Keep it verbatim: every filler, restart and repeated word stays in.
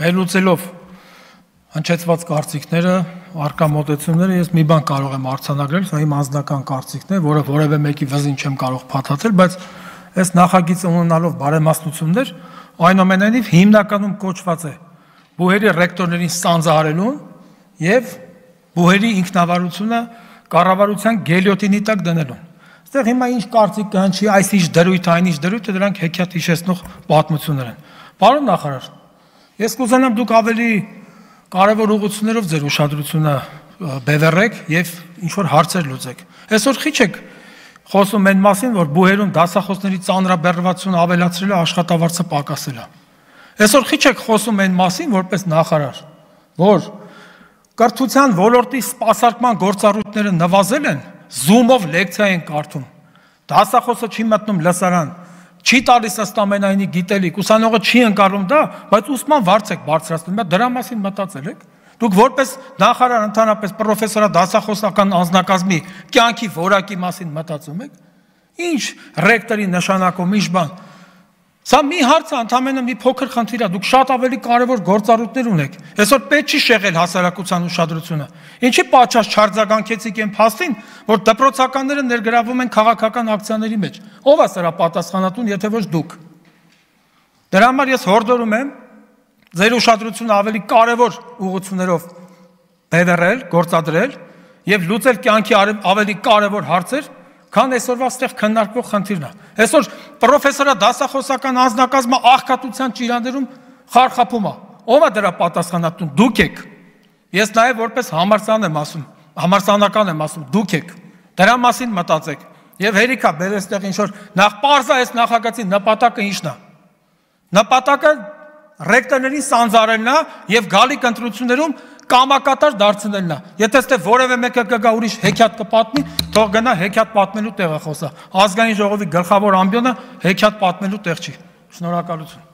վերլուծելով հնչեցված կարծիքները, առկա մոտեցումները, ես մի բան կարող եմ արձանագրել, սա իմ անձնական կարծիքն է, որը որևէ մեկի վզին չեմ կարող փաթաթել, բայց այս նախագիծը ունենալով բարեմասնություններ, այնուամենայնիվ հիմնականում կոչված է բուհերի ռեկտորներին սանձահարելուն եւ բուհերի ինքնավարությունը կառավարության գելյոտինի տակ դնելուն։ Այստեղ հիմա ինչ կարծիք կհնչի, այս ինչ դրույթ, այն ինչ դրույթը, դրանք հեքիաթ հիշեցնող պատմություններ են։ Պարոն նախարար, ես կուզենամ դուք ավելի կարևոր ուղղություններով ձեր ուշադրությունը բևեռեք եւ ինչ որ հարցեր լուծեք։ Այսօր քիչ եք խոսում այն մասին, որ բուհերում դասախոսների ծանրաբեռնվածությունը ավելացրելը աշխատավարձը պակասելը։ Այսօր քիչ եք խոսում այն մասին, որպես նախարար, որ կրթության ոլորտի սպասարկման գործառույթները նվազել են, Zoom-ով լեկցիա են կարդում։ Դասախոսը չի մտնում լսարան, չի տալիս ըստ ամենայնի գիտելիք, ուսանողը չի ընկալում դա, բայց ուսման վարձ եք բարձրացնում, դրա մասին մտածել եք։ Դուք որպես նախարար ընդհանրապես պրոֆեսորա դասախոսական անձնակազմի կյանքի որակի մասին մտածում եք։ Ինչ ռեկտորի նշանակում, ինչ բան։ Սա մի հարց է, ընդամենը մի փոքր խնդիր է, դուք շատ ավելի կարևոր գործառույթներ ունեք։ Այսօր պետք չի շեղել հասարակության ուշադրությունը։ Ինչի պատճառ չարձագանքեցիք այն փաստին, որ դպրոցականները ներգրավում են քաղաքական ակցիաների մեջ։ Ո՞վ է սրա պատասխանատուն, եթե ոչ դուք։ Դրա համար ես հորդորում եմ ձեր ուշադրությունը ավելի կարևոր ուղղություններով բևեռել, գործադրել եւ լուծել կյանքի ավելի կարևոր հարցեր, քան այսօրվա այստեղ քննարկվող խնդիրն է։ Այսօր պրոֆեսորա դասախոսական անձնակազմը աղքատության ճիրաններում խարխափում է։ Ո՞վ է դրա պատասխանատուն։ Դուք եք։ Ես նաև որպես համալսարան եմ ասում, համալսարանական եմ ասում, դուք եք։ Դրա մասին մտածեք։ Եվ հերիք է բերել այստեղ ինչ որ նախ պարզա այս նախագծի նպատակը ինչն է։ Նպատակը ռեկտորներին սանձարելն է եւ գալիք ընտրություններում կամակատար դարձնելն է։ Եթե ստե որևէ մեկը կգա ուրիշ հեքիաթ կպատնի, թող գնա հեքիաթ պատմելու տեղը խոսա։ Ազգային ժողովի գլխավոր ամբիոնը հեքիաթ պատմելու տեղ չի։ Շնորհակալություն։